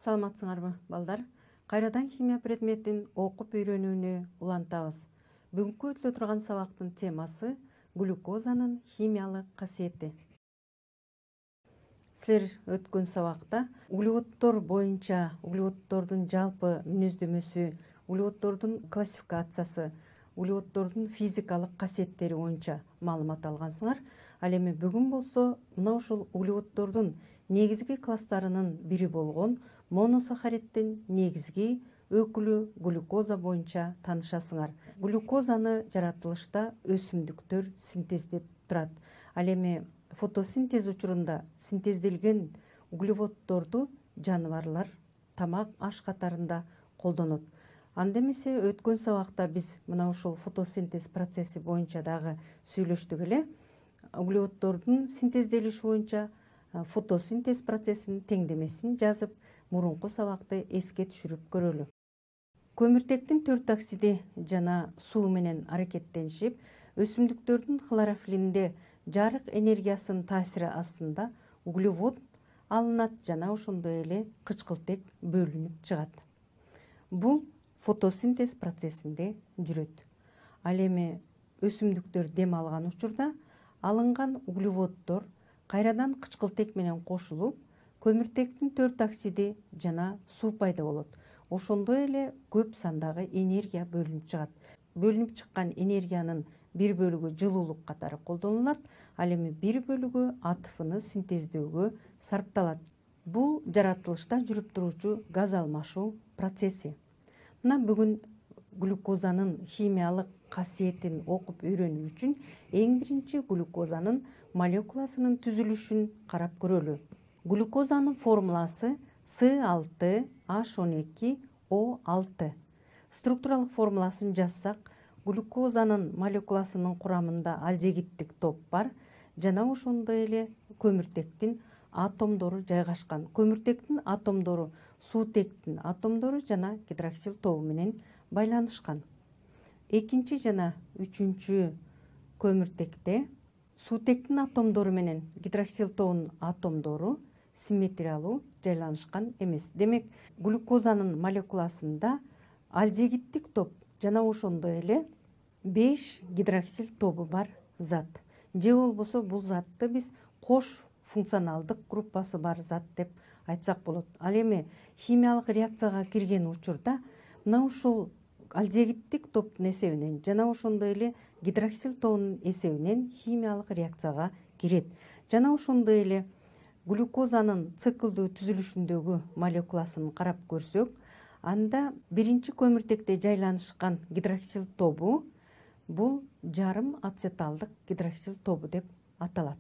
Саламатсыңарбы, балдар? Кайрадан химия предметин окуп үйрөнүүнү улантабыз. Бүгүнкү өтүлө турган сабактын темасы глюкозанын химиялык касиети. Силер өткөн сабакта углеводдор боюнча углеводдордун жалпы мүнөздөмөсү, углеводдордун классификациясы, углеводдордун физикалык касиеттери боюнча маалымат алгансыңар. Ал эми бүгүн болсо мына ушул углеводдордун негизги класстарынын бири болгон моносахариддин негизги өкүлү глюкоза боюнча таанышасыңар. Глюкозаны жаратылышта өсүмдүктөр синтездеп турат. Ал эми фотосинтез учурунда синтезделген углеводдорду жаныбарлар тамак аш катарында колдонот. Анда эмесе өткөн сабакта биз мына ушул фотосинтез процесси боюнча дагы сүйлөштүк эле. Углеводдордун синтезделиши боюнча фотосинтез процессинин теңдемесин жазып, мурунку сабакты эске түшүрүп көрөлү. Көмүртектин 4 оксиди жана суу менен аракеттенишип, өсүмдүктөрдүн хлорофилинде жарык энергиясынын таасири астында углевод алынат жана ошондой эле кычкылтек бөлүнүп чыгат. Бул фотосинтез процессинде жүрөт. Ал эми өсүмдүктөр дем алган учурда алынган углеводдор кайрадан кычкылтек менен кошулуп, көмүртектин 4 оксиди жана суу пайда болот. Ошондой эле көп сандагы энергия бөлүнүп чыгат. Бөлүнүп чыккан энергиянын бир бөлүгү жылуулук катары колдонулат, ал эми бир бөлүгү АТФны синтездөөгө сарпталат. Бул жаратылышта жүрүп туруучу газ алмашуу процесси. Мына бүгүн глюкозанын химиялык касиетин окуп үйрөнүү үчүн эң биринчи глюкозанын молекуласынын түзүлүшүн карап көрөлү. Глюкозанын формуласы С6H12O6. Структуралык формуласын жазсак, глюкозанын молекуласынын курамында алдегиттик топ бар жана ошондой эле көмүртектин атомдору жайгашкан. Көмүртектин атомдору суутектин атомдору жана гидроксил тобу менен байланышкан. Экинчи жана үчүнчү көмүртекте суутектин атомдору менен гидроксил тобунун атомдору симметриялуу жайланышкан эмес. Демек, глюкозанын молекуласында алдегиттик топ жана ошондой эле 5 гидроксил тобу бар зат. Же болбосо бул затты биз кош функционалдык группасы бар зат деп айтсак болот. Ал эми химиялык реакцияга кирген учурда мына ушул алдегиттик топтун эсебинен жана ошондой эле гидроксил тобунун эсебинен химиялык реакцияга кирет. Жана ошондой эле глюкозанын циклдүү түзүлүшүндөгү молекуласын карап көрсөк, анда биринчи көмүртекте жайланышкан гидроксил тобу бул жарым ацеталдык гидроксил тобу деп аталат.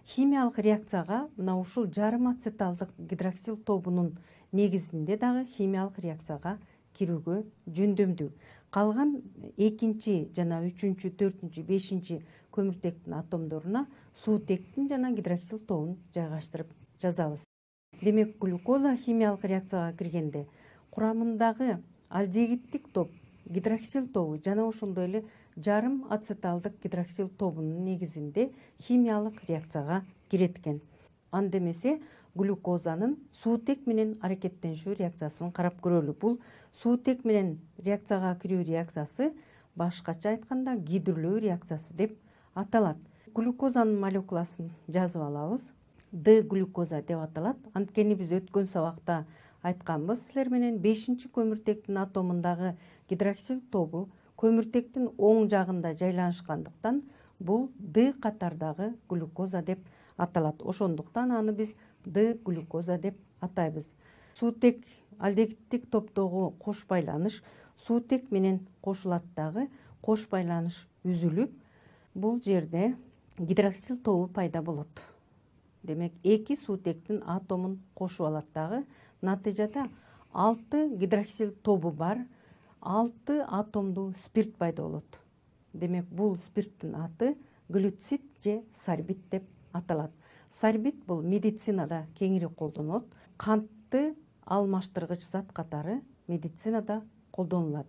Химиялык реакцияга мына ушул жарым ацеталдык гидроксил тобунун негизинде дагы химиялык реакцияга кирүүгө жөндөмдүү. Калган экинчи жана үчүнчү, төртүнчү, бешинчи көмүртектин атомдоруна суутектин жана гидроксил тобун жайгаштырып жазабыз. Демек, глюкоза химиялык реакцияга киргенде курамындагы алдегиттик топ, гидроксил тобу жана ошондой эле жарым ацеталдык гидроксил тобунун негизинде химиялык реакцияга кирет экен. Анда эмесе глюкозанын суутек менен аракеттенишүү реакциясын карап көрөлү. Бул суутек менен реакцияга кирүү реакциясы башкача айтканда гидрөлөө реакциясы деп аталат. Глюкозанын молекуласын жазып алабыз. Д-глюкоза деп аталат. Анткени биз өткөн сабакта айтканбыз силер менен 5-чи көмүртектин атомундагы гидроксил тобу көмүртектин оң жагында жайланышкандыктан бул Д катардагы глюкоза деп аталат. Ошондуктан аны биз Д-глюкоза деп атайбыз. Суутек алдегиттик топтогу кош байланыш суутек менен кошулат дагы, кош байланыш үзүлүп, бул жерде гидроксил тобу пайда болот. Демек, 2 суутектин атомун кошуп алат дагы. Натыйжада 6 гидроксил тобу бар 6 атомдуу спирт пайда болот. Демек, бул спирттин аты глюцид же сорбит деп аталат. Сорбит бул медицинада кеңири колдонулот. Кантты алмаштыргыч зат катары медицинада колдонулат.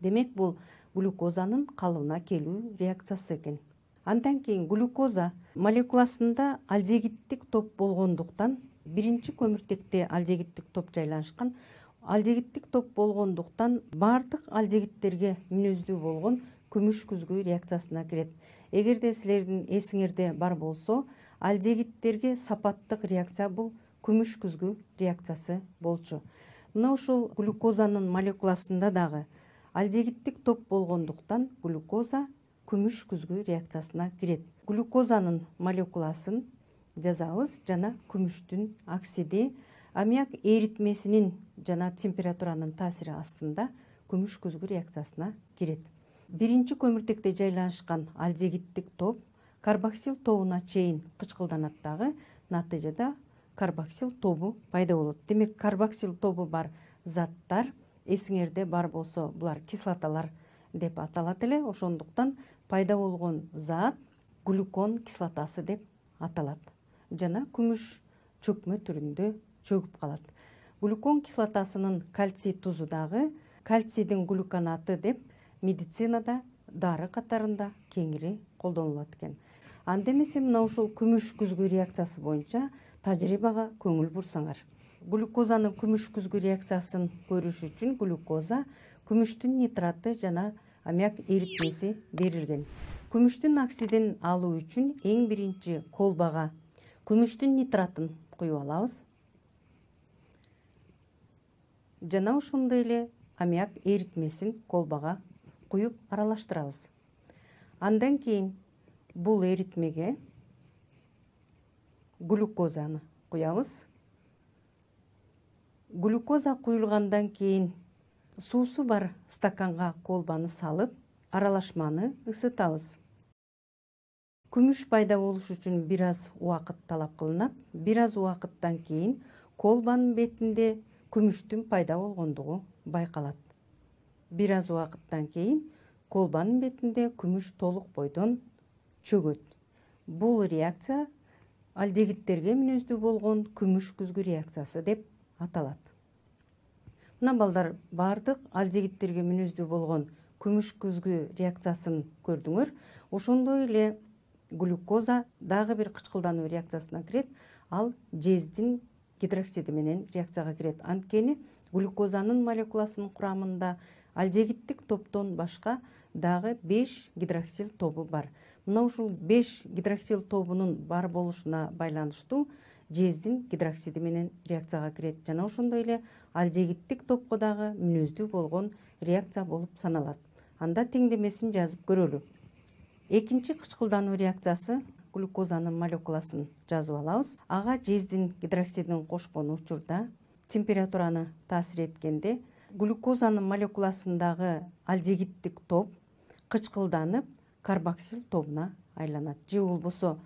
Демек, бул глюкозанын калыбына келүү реакциясы экен. Андан кийин глюкоза молекуласында алдегиттик топ болгондуктан биринчи көмүртекте алдегиттик топ жайланышкан. Алдегиттик топ болгондуктан баардык алдегиттерге мүнөздүү болгон күмүш күзгү реакциясына кирет. Эгерде силердин эсиңерде бар болсо, алдегиттерге сапаттык реакция бул күмүш күзгү реакциясы болчу. Мына ушул глюкозанын молекуласында дагы алдегиттик топ болгондуктан глюкоза күмүш күзгү реакциясына кирет. Глюкозанын молекуласын жазабыз жана күмүштүн оксиди аммиак эритмесинин жана температуранын таасири астында күмүш күзгү реакциясына кирет. Биринчи көмүртекте жайланышкан алдегиттик топ карбоксил тобуна чейин кычкылданат дагы, натыйжада карбоксил тобу пайда болот. Демек, карбоксил тобу бар заттар эсиңерде бар болсо, булар кислоталар деп аталат эле. Ошондуктан пайда болгон зат глюкон кислотасы деп аталат жана күмүш чөкмө түрүндө чөгүп калат. Глюкон кислотасынын кальций тузу дагы кальцийдин глюконаты деп медицинада дары катарында кеңири колдонулат экен. Анда эмесе мына ушул күмүш күзгү реакциясы боюнча тажрыйбага көңүл бурсаңар. Глюкозанын күмүш күзгү реакциясын көрүш үчүн глюкоза, күмүштүн нитраты жана аммиак эритмеси берилген. Күмүштүн оксидин алуу үчүн эң биринчи колбага күмүштүн нитратын куюп алабыз. Жана ошондой эле аммиак эритмесин колбага куюп аралаштырабыз. Андан кийин бул эритмеге глюкозаны куябыз. Глюкоза куюлгандан кийин суусу бар стаканга колбаны салып, аралашманы ысытабыз. Күмүш пайда болуш үчүн бир аз убакыт талап кылынат. Бир аз убакыттан кийин колбанын бетинде күмүштүн пайда болгондугу байкалат. Бир аз убакыттан кийин колбанын бетинде күмүш толук бойдон чөгөт. Бул реакция алдегиттерге мүнөздүү болгон күмүш күзгү реакциясы деп аталат. Мына балдар, баардык алдегиттерге мүнөздүү болгон күмүш күзгү реакциясын көрдүңөр. Ошондой эле глюкоза дагы бир кычкылдануу реакциясына кирет. Ал жездин гидроксиди менен реакцияга кирет. Анткени глюкозанын молекуласынын курамында алдегиттик топтон башка дагы 5 гидроксил тобу бар. Мына ушул 5 гидроксил тобунун бар болушуна байланыштуу жездин гидроксиди менен реакцияга кирет жана ошондой эле алдегиттик топко дагы мүнөздүү болгон реакция болуп саналат. Анда теңдемесин жазып көрөлү. Экинчи кычкылдануу реакциясы глюкозанын молекуласын жазып алабыз. Ага жездин гидроксидин кошкон учурда температураны таасир эткенде глюкозанын молекуласындагы алдегиттик топ кычкылданып карбоксил тобуна айланат. Же болбосо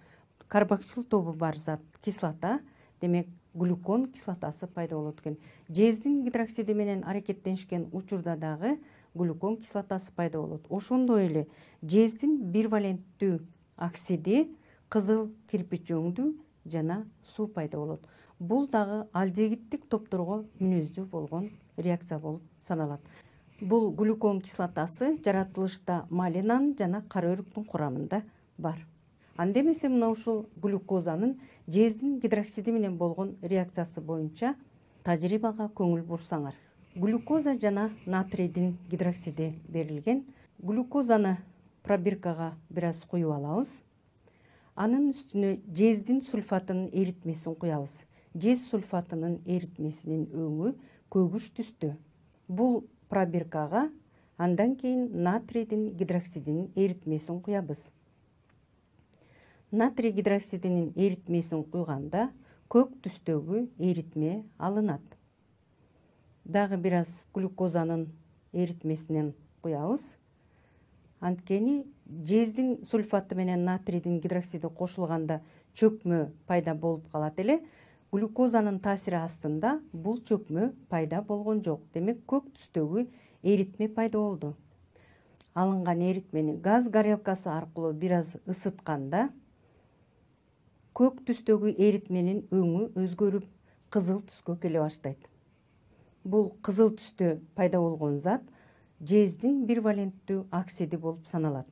карбоксил тобу бар зат кислота, демек глюкон кислотасы пайда болот экен. Жездин гидроксиди менен аракеттенишкен учурда дагы глюкон кислотасы пайда болот. Ошондой эле жездин бирваленттүү оксиди, кызыл кирпич өңдүү жана суу пайда болот. Бул дагы алдегиттик топторго мүнөздүү болгон реакция болуп саналат. Бул глюкон кислотасы жаратылышта малинанын жана кара өрүктүн курамында бар. Анда эмесе мына ушул глюкозанын жездин гидроксиди менен болгон реакциясы боюнча тажрыйбага көңүл бурсаңар. Глюкоза жана натрийдин гидроксиди берилген. Глюкозаны пробиркага бир аз куюп алабыз. Анын үстүнө жездин сульфатынын эритмесин куябыз. Жез сульфатынын эритмесинин өңү көгүш түстө. Бул пробиркага андан кийин натрийдин гидроксидинин эритмесин куябыз. Натрий гидроксидинин эритмесин куйганда көк түстөгү эритме алынат. Дагы бир аз глюкозанын эритмесинен куябыз. Анткени жездин сульфаты менен натрийдин гидроксиди кошулганда чөкмө пайда болуп калат эле. Глюкозанын таасири астында бул чөкмө пайда болгон жок. Демек, көк түстөгү эритме пайда болду. Алынган эритмени газ горелкасы аркылуу бир аз ысытканда көк түстөгү эритменин өңү өзгөрүп кызыл түскө келе баштайт. Бул кызыл түстө пайда болгон зат жездин бирваленттүү оксиди болуп саналат.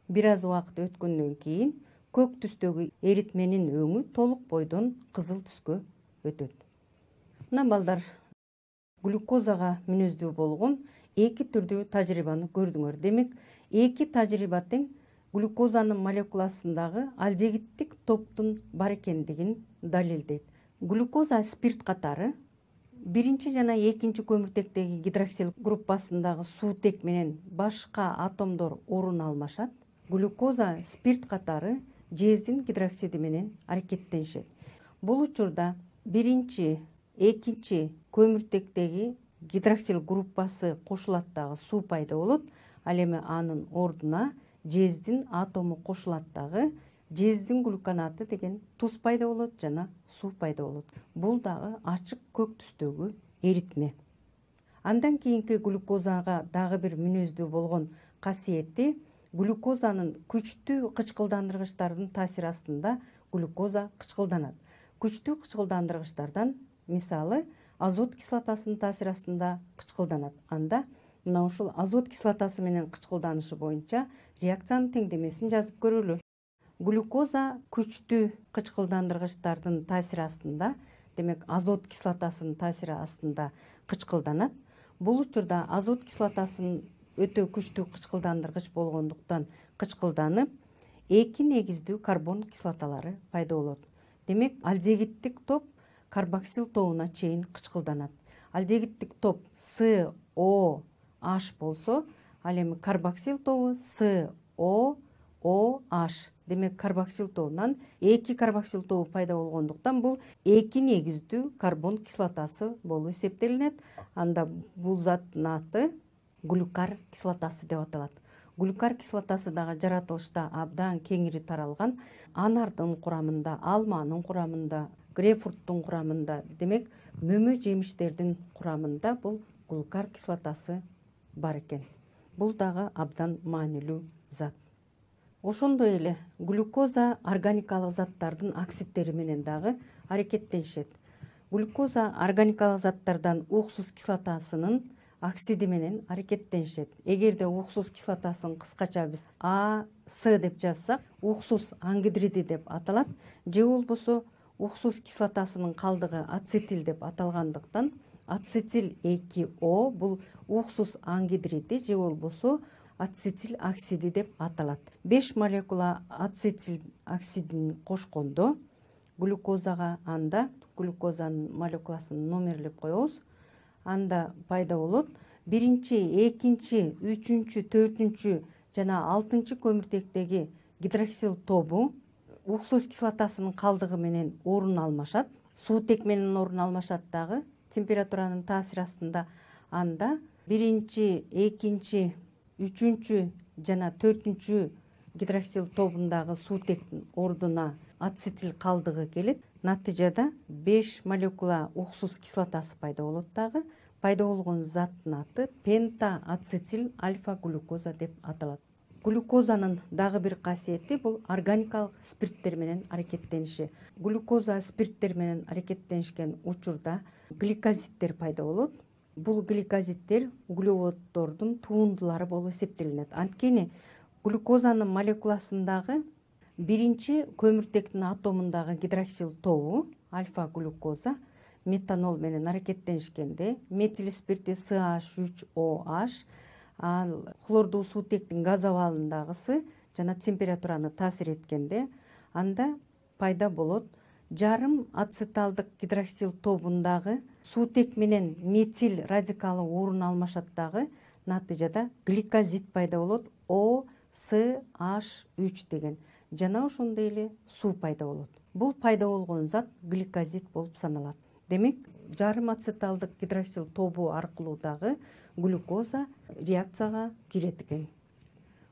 Бир аз убакыт өткөндөн кийин көк түстөгү эритменин өңү толук бойдон кызыл түскө өтөт. Мына балдар, глюкозага мүнөздүү болгон эки түрдүү тажрыйбаны көрдүңөр. Демек, эки тажрыйба тең глюкозанын молекуласындагы алдегиттик топтун бар экендигин далилдейт. Глюкоза спирт катары биринчи жана экинчи көмүртектеги гидроксил группасындагы суутек менен башка атомдор орун алмашат. Глюкоза спирт катары жездин гидроксиди менен аракеттенишет. Бул учурда биринчи, экинчи көмүртектеги гидроксил группасы кошулат дагы суу пайда болот. Ал эми анын ордуна жездин атому кошулат дагы жездин глюконаты деген туз пайда болот жана суу пайда болот. Бул дагы ачык көк түстөгү эритме. Андан кийинки глюкозага дагы бир мүнөздүү болгон касиети глюкозанын күчтүү кычкылдандыргычтардын таасири астында глюкоза кычкылданат. Күчтүү кычкылдандыргычтардан мисалы азот кислотасынын таасири астында кычкылданат. Анда мына ушул азот кислотасы менен кычкылданышы боюнча реакциянын теңдемесин жазып көрөлү. Глюкоза күчтүү кычкылдандыргычтардын таасири астында, демек азот кислотасынын таасири астында кычкылданат. Бул учурда азот кислотасынын өтө күчтүү кычкылдандыргыч болгондуктан кычкылданып, эки негиздүү карбон кислоталары пайда болот. Демек, алдегиттик топ карбоксил тобуна чейин кычкылданат. Алдегиттик топ SOH болсо, ал эми карбоксил тобу SOOH. Демек, карбоксил тобунан эки карбоксил тобу пайда болгондуктан бул эки негиздүү карбон кислотасы болуп эсептелинет. Анда бул заттын аты глюкар кислотасы деп аталат. Глюкар кислотасы дагы жаратылышта абдан кеңири таралган. Анардын курамында, алманын курамында, грейпфруттун курамында, демек, мөмө жемиштердин курамында бул глюкар кислотасы бар экен. Бул дагы абдан маанилүү зат. Ошондой эле глюкоза органикалык заттардын оксидтери менен дагы аракеттенишет. Глюкоза органикалык заттардан уксус кислотасынын оксиди менен аракеттенишет. Эгерде уксус кислотасын кыскача биз АС деп жазсак, уксус ангидриди деп аталат. Же болбосо уксус кислотасынын калдыгы ацетил деп аталгандыктан ацетил 2O бул уксус ангидриди же болбосо ацетил оксиди деп аталат. 5 молекула ацетил оксидин кошкондо глюкозага, анда глюкозанын молекуласын номерлеп коебуз. Анда пайда болот биринчи, экинчи, үчүнчү, төртүнчү жана 6-чы көмүртектеги гидроксил тобу уксус кислотасынын калдыгы менен орун алмашат. Суутек менен орун алмашат дагы температуранын таасири астында. Анда биринчи, экинчи, үчүнчү жана төртүнчү гидроксил тобундагы суутектин ордуна ацетил калдыгы келет. Натыйжада 5 молекула уксус кислотасы пайда болот дагы. Пайда болгон заттын аты пентаацетил альфа-глюкоза деп аталат. Глюкозанын дагы бир касиети бул органикалык спирттер менен аракеттениши. Глюкоза спирттер менен аракеттенишкен учурда гликозиттер пайда болот. Бул гликозиттер углеводдордун туундулары болуп эсептелинет. Анткени глюкозанын молекуласындагы биринчи көмүртектин атомундагы гидроксил тобу альфа-глюкоза метанол менен аракеттенишкенде метил спирти CH3OH, ал хлордуу суутектин газ абалындагысы жана температураны таасир эткенде, анда пайда болот жарым ацеталдык гидроксил тобундагы суутек менен метил радикалы орун алмашат дагы. Натыйжада гликозид пайда болот, OCH3 деген. Жана ошондой эле суу пайда болот. Бул пайда болгон зат гликозид болуп саналат. Демек, жарым ацеталдык гидроксил тобу аркылуу дагы глюкоза реакцияга кирет экен.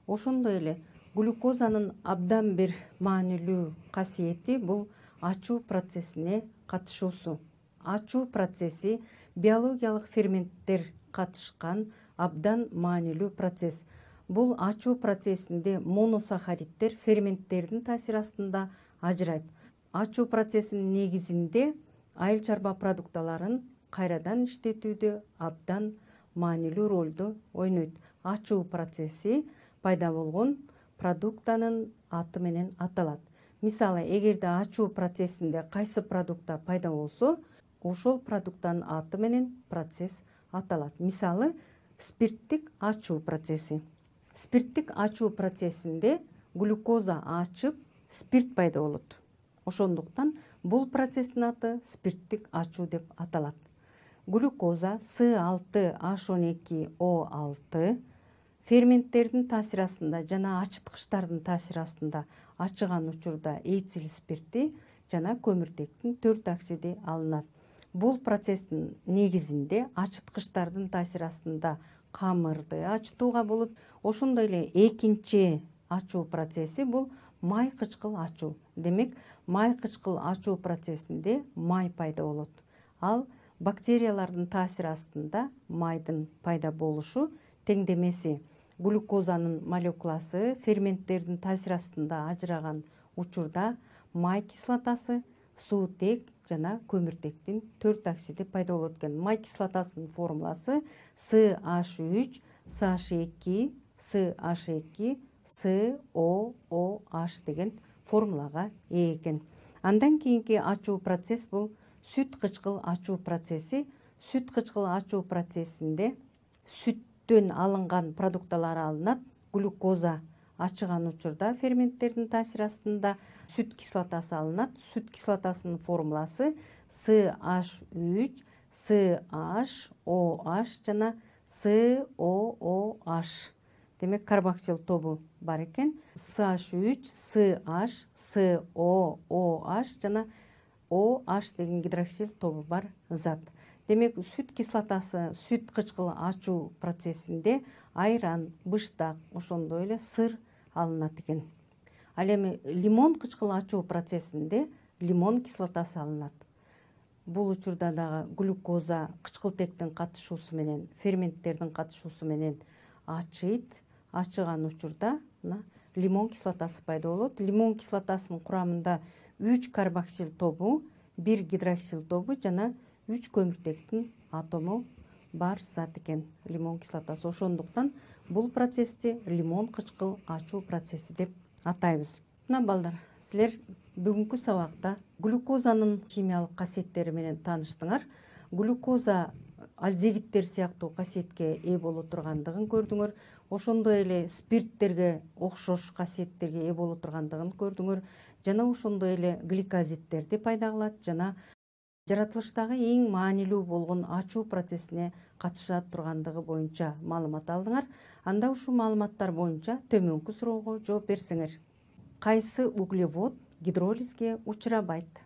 Ошондой эле глюкозанын абдан бир маанилүү касиети бул ачуу процессине катышуусу. Ачуу процесси биологиялык ферменттер катышкан абдан маанилүү процесс. Бул ачуу процессинде моносахариддер ферменттердин таасири астында ажырайт. Ачуу процессинин негизинде айыл чарба продукталарын кайрадан иштетүүдө абдан маанилүү ролду ойнойт. Ачуу процесси пайда болгон продуктанын аты менен аталат. Мисалы, эгерде ачуу процессинде кайсы продукта пайда болсо, ошол продукттан аты менен процесс аталат. Мисалы, спирттик ачуу процесси. Спирттик ачуу процессинде глюкоза ачып, спирт пайда болот. Ошондуктан бул процесстин аты спирттик ачуу деп аталат. Глюкоза С6H12O6 ферменттердин таасир астында жана ачыткычтардын таасир астында ачыган учурда этил спирти жана көмүртектин 4 оксиди алынат. Бул процесстин негизинде ачыткычтардын таасир астында камырды ачытууга болот. Ошондой эле экинчи ачуу процесси бул май кычкыл ачуу. Демек, май кычкыл ачуу процессинде май пайда болот. Ал бактериялардын таасир астында майдын пайда болушу теңдемеси глюкозанын молекуласы ферменттердин таасир астында ажыраган учурда май кислотасы, суутек жана көмүртектин 4 оксиди пайда болот экен. Май кислотасынын формуласы CH3, CH2, CH2, COOH деген формулага ээ экен. Андан кийинки ачуу процесс бул сүт кычкыл ачуу процесси. Сүт кычкыл ачуу процессинде сүттөн алынган продукталар алынат. Глюкоза ачыган учурда ферменттердин таасир астында сүт кислотасы алынат. Сүт кислотасынын формуласы CH3, CHOH жана COOH. Демек, карбоксил тобу бар экен. CH3, CH, COOH жана OH деген гидроксил тобу бар зат. Демек, сүт кислотасы сүт кычкыл ачуу процессинде айран, быштак, ошондой эле сыр алынат экен. Ал эми лимон кычкыл ачуу процессинде лимон кислотасы алынат. Бул учурда дагы глюкоза кычкылтектин катышуусу менен, ферменттердин катышуусу менен ачыйт. Ачыган учурда лимон кислотасы пайда болот. Лимон кислотасынын курамында 3 карбоксил тобу, 1 гидроксил тобу жана 3 көмүртектин атому бар зат экен лимон кислотасы. Ошондуктан бул процессти лимон кычкыл ачуу процесси деп атайбыз. Мына балдар, силер бүгүнкү сабакта глюкозанын химиялык касиеттери менен тааныштыңар. Глюкоза альдегидтер сыяктуу касиетке ээ боло тургандыгын көрдүңөр. Ошондой эле спирттерге окшош касиеттерге ээ боло тургандыгын көрдүңөр. Жана ошондой эле гликозиттерди пайда кылат жана жаратылыштагы эң маанилүү болгон ачуу процессине катыша тургандыгы боюнча маалымат алдыңар. Анда ушул маалыматтар боюнча төмөнкү суроого жооп берсеңер. Кайсы углевод гидролизге учурабайт?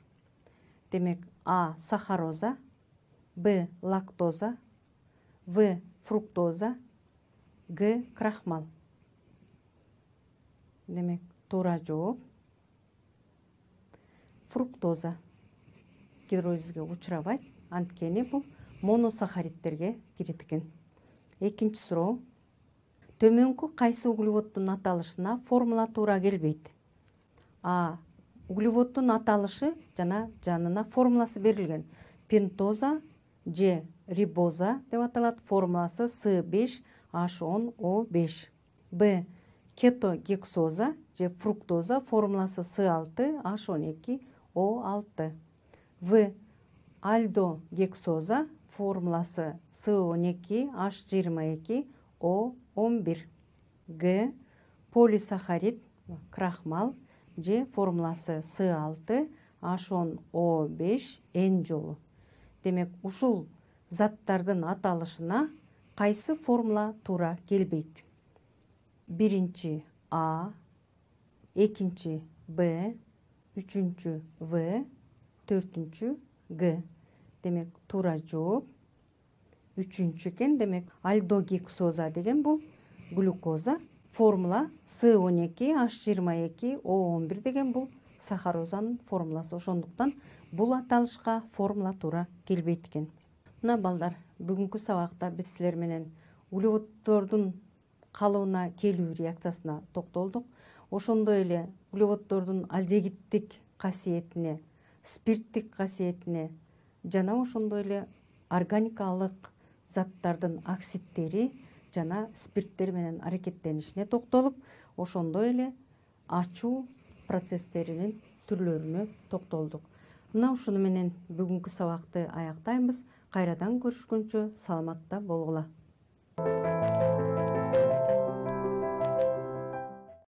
Демек, А. сахароза, Б. лактоза, В. фруктоза, Г. крахмал. Демек, туура жооп фруктоза гидролизге учурабайт, анткени бул моносахаридтерге кирет экен. Экинчи суроо. Төмөнкү кайсы углеводдун аталышына формула туура келбейт? А. углеводдун аталышы жана жанына формуласы берилген. Пентоза же рибоза деп аталат. Формуласы С5H10O5. Б. кетогексоза же фруктоза. Формуласы С6H12O6. В. альдогексоза. Формуласы С12H22O11. Г. полисахарид крахмал же формуласы С6H10O5 N жолу. Демек, ушул заттардын аталышына кайсы формула туура келбейт? Биринчи А, экинчи Б, үчүнчү В, төртүнчү Г. Демек, туура жооп үчүнчү экен. Демек, альдогексоза деген бул глюкоза. Формула С12H22O11 деген бул сахарозанын формуласы. Ошондуктан бул аталышка формула туура келбейт экен. Мына балдар, бүгүнкү сабакта биз силер менен углеводдордун калыбына келүү реакциясына токтолдук. Ошондой эле углеводдордун альдегидтик касиетине, спирттик касиетине жана ошондой эле органикалык заттардын оксидтери жана спирттер менен аракеттенишине токтолуп, ошондой эле ачуу процесстеринин түрлөрүнө токтолдук. Мына ушуну менен бүгүнкү сабакты аяктайбыз. Кайрадан көрүшкөнчө саламатта болгула.